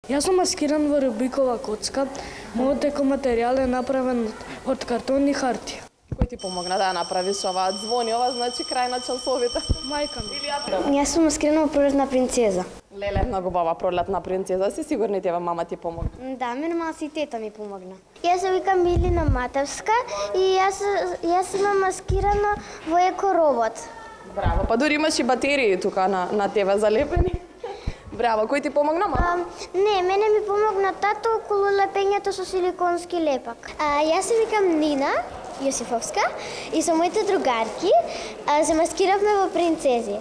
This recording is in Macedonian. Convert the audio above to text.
Јас сум маскиран во Рубикова коцка. Мојот екоматеријал е направен од картон и хартија. Кој ти помогна да ја направиш ова? Звони ова, значи крај на часовите. Мајка ми. Јас сум маскирана во Пролетна принцеза. Леле, многу бава Пролетна принцеза. Си сигурни тебе мама ти помогна? Да, мене мама и тета ми помогна. Јас се викам Милина Матевска и јас имам маскирано во екоробот. Браво, па дури имаш и батерии тука на тебе залепени. Браво, кој ти помогна, мама? Не, мене ми помогна тато околу лепењето со силиконски лепак. Јас се викам Нина Јосифовска и со моите другарки се маскиравме во принцези.